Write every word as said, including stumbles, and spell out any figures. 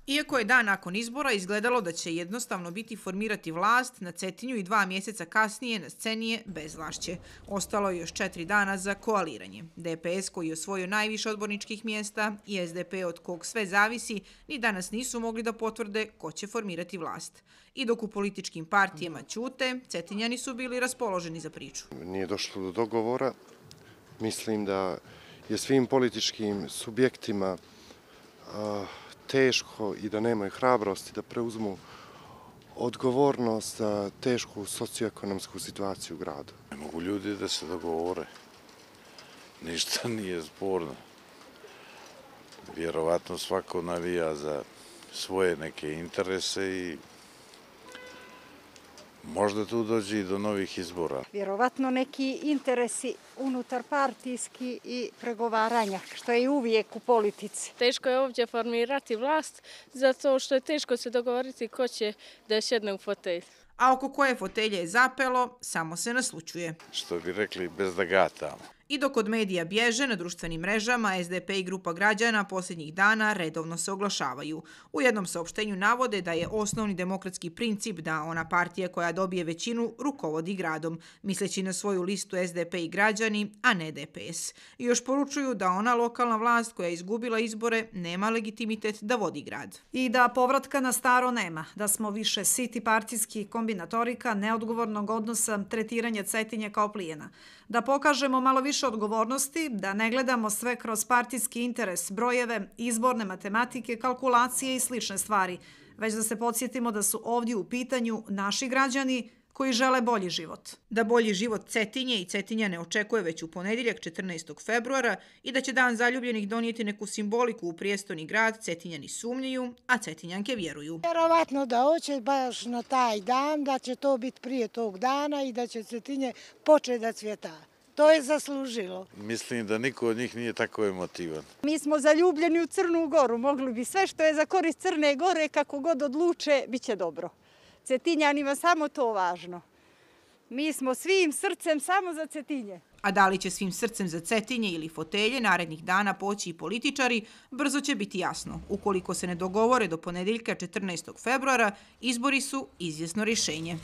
Iako je dan nakon izbora izgledalo da će jednostavno biti formirati vlast, na Cetinju i dva mjeseca kasnije na sceni je bezvlašće. Ostalo je još četiri dana za koaliranje. D P S, koji je osvojio najviše odborničkih mjesta, i S D P, od kog sve zavisi, ni danas nisu mogli da potvrde ko će formirati vlast. I dok u političkim partijama ćute, Cetinjani su bili raspoloženi za priču. Nije došlo do dogovora. Mislim da je svim političkim subjektima uh, teško i da nemaju hrabrosti da preuzmu odgovornost za tešku socioekonomsku situaciju u gradu. Ne mogu ljudi da se dogovore. Ništa nije sporno. Vjerovatno svako navija za svoje neke interese i možda tu dođe i do novih izbora. Vjerovatno neki interesi unutar partijski i pregovaranja, što je uvijek u politici. Teško je ovdje formirati vlast, zato što je teško se dogovoriti ko će da sjedne u fotelj. A oko koje fotelje je zapelo, samo se naslučuje. Što bi rekli, bez da gatamo. I dok od medija bježe, na društvenim mrežama S D P i grupa građana posljednjih dana redovno se oglašavaju. U jednom saopštenju navode da je osnovni demokratski princip da ona partija koja dobije većinu rukovodi gradom, misleći na svoju listu S D P i građani, a ne D P S. I još poručuju da ona lokalna vlast koja je izgubila izbore nema legitimitet da vodi grad. I da povratka na staro nema, da smo više siti partijskih kombinatorika, neodgovornog odnosa, tretiranja Cetinje kao plijena. Da pokažemo malo više odgovornosti, da ne gledamo sve kroz partijski interes, brojeve, izborne matematike, kalkulacije i slične stvari, već da se podsjetimo da su ovdje u pitanju naši građani koji žele bolji život. Da bolji život Cetinje i Cetinjane očekuje već u ponedjeljak četrnaestog februara i da će Dan zaljubljenih donijeti neku simboliku u prijestolni grad, Cetinjani sumnjaju, a Cetinjanke vjeruju. Vjerovatno da hoće baš na taj dan, da će to biti prije tog dana i da će Cetinje početi da cvjeta. To je zaslužilo. Mislim da niko od njih nije tako emotivan. Mi smo zaljubljeni u Crnu Goru, mogli bi sve što je za korist Crne Gore, kako god odluče, bit će dobro. Cetinjanima samo to važno. Mi smo svim srcem samo za Cetinje. A da li će svim srcem za Cetinje ili fotelje narednih dana poći i političari, brzo će biti jasno. Ukoliko se ne dogovore do ponedjeljka četrnaestog februara, izbori su izvjesno rješenje.